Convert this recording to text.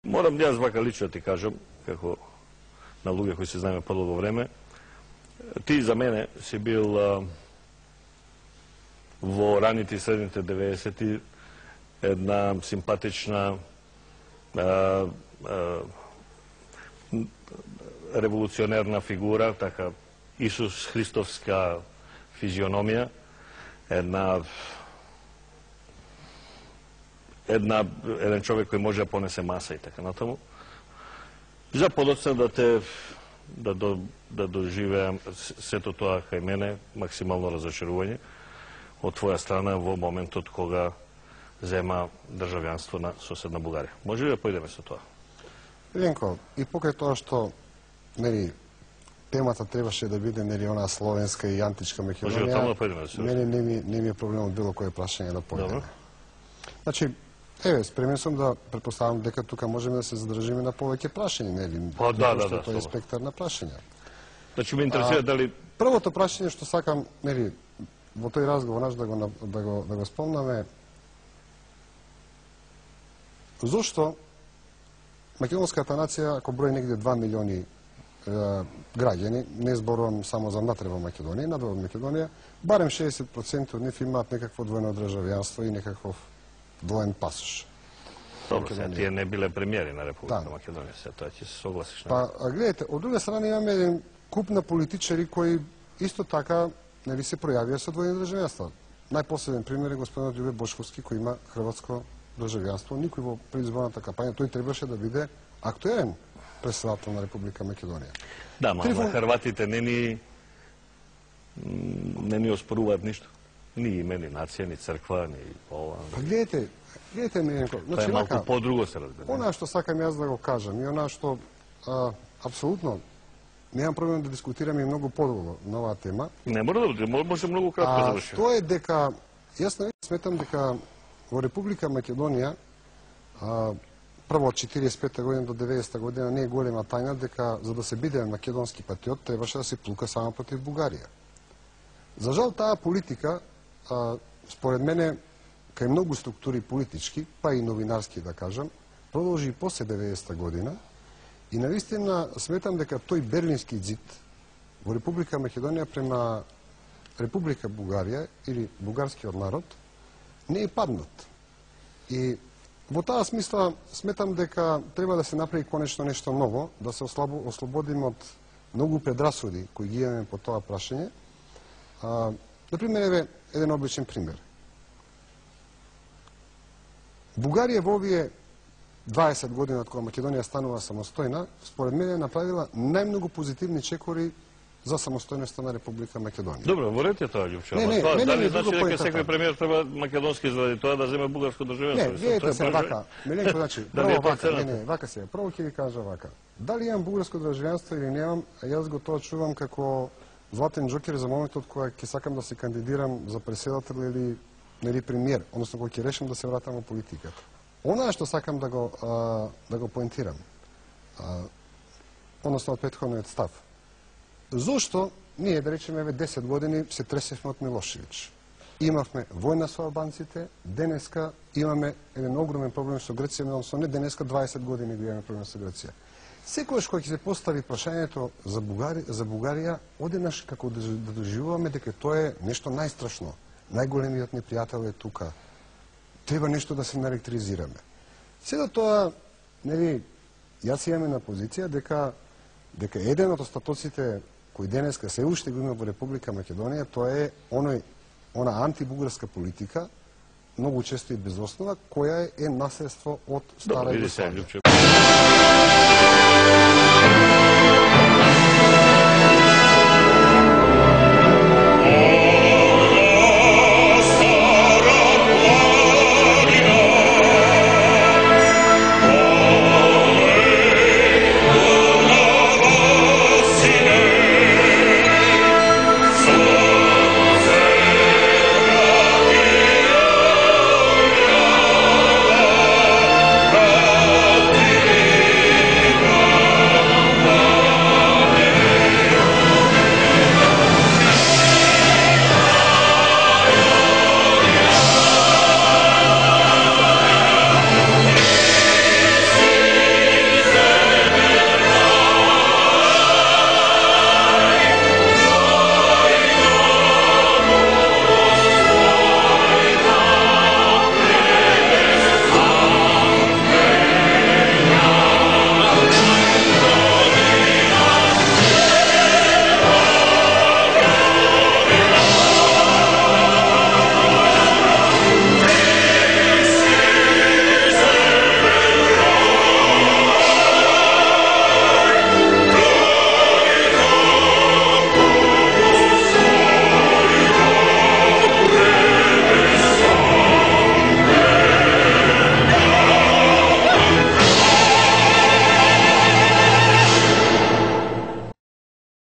Морам јас вака лично ти кажам, како на луѓе кои се знаеме подолго време, ти за мене си бил во раните и средните 90-ти една симпатична револуционерна фигура, така Исус Христовска физиономија, еден човек кој може да понесе маса и така натаму. За подоцна да доживеам сето тоа кај мене, максимално разочарување од твоја страна во моментот кога зема државјанство на соседна Бугарија. Може ли да појдеме со тоа? Ленко, и покрај тоа што темата требаше да биде она словенска и античка Македонија, мене не ми е проблем од било кое прашање да појдеме. Значи, спремен сум да претпоставам дека тука можеме да се задржиме на повеќе прашања, Да, тоа е спектар на прашања. Значи, ме интересира дали... Првото прашање што сакам, во тој разговор наш да го спомнаме, зошто македонската нација, ако брои негде 2 милиони граѓани, не зборувам само за внатре во Македонија, надвор од Македонија, барем 60% од нив имаат некакво двојно државјанство и некаков двоен пасош. Добро, тие не биле премиери на Република Македонија, тоа ќе се согласиш. Па, гледайте, од друга страна имаме еден куп на политичари кои исто така се пројавија со двојни државјанства. Најпоследен пример е господинот Љубе Бошковски, кој има хрватско државјанство. Никој во предизборната кампања, тој требаше да биде актуелен претседател на Република Македонија. Да, ма хрватите не ни оспоруваат ништо. Ни име, ни нација, ни црква, ни ова. Па гледайте Миленко, тоа е малку по-друго се разбира. Она што сакам јас да го кажам и она што апсолутно немам проблем да дискутираме и многу подолго на оваа тема. Не мора да може многу кратко да заврши. Тоа е дека јас сметам дека во Република Македонија прво од 45 година до 90 година не е голема тајна дека за да се биде македонски патриот требаше да се плука само против Бугарија. За жал таа политика според мене кај многу структури политички, па и новинарски да кажам, продолжи и после 90 година и навистина сметам дека тој Берлински зид во Република Македонија према Република Бугарија или бугарскиот народ не е паднат. И во таа смисла сметам дека треба да се направи конечно нешто ново, да се ослободиме од многу предрасуди кои ги имаме по тоа прашање. Например, еден обличен пример. Бугарија во овие 20 години од кога Македонија станува самостојна, според мене направила најмногу позитивни чекори за самостојноста на Република Македонија. Добро, во ред е тоа, Љупчо. Дали значи дека секој премиер треба македонски заради тоа да земе бугарско државјанство? Не, видете се вака. Миленко, значи, прво вака, вака се. Прво ќе ви кажа вака. Дали имам бугарско државјанство или немам, јас го тоа чувам како златен џокер за моментот кога ќе сакам да се кандидирам за претседател или премиер, односно кога ќе решам да се вратам во политиката. Она што сакам да го поентирам, односно од претходниот став. Зошто ние, да речеме, 10 години се тресевме од Милошевиќ? Имавме војна со албанците, денеска имаме еден огромен проблем со Грција, односно не денеска, 20 години го имаме проблем со Грција. Секојаш кога ќе се постави прашањето за Бугарија, одеднаш како да доживуваме дека тоа е нешто најстрашно. Најголемиот непријател е тука. Треба нешто да се наелектризираме. Седо тоа, јас имаме на позиција дека еден од остатоците кои денеска се уште го има во Република Македонија, тоа е она антибугарска политика, многу често и без основа, која е наследство од стара Југославија.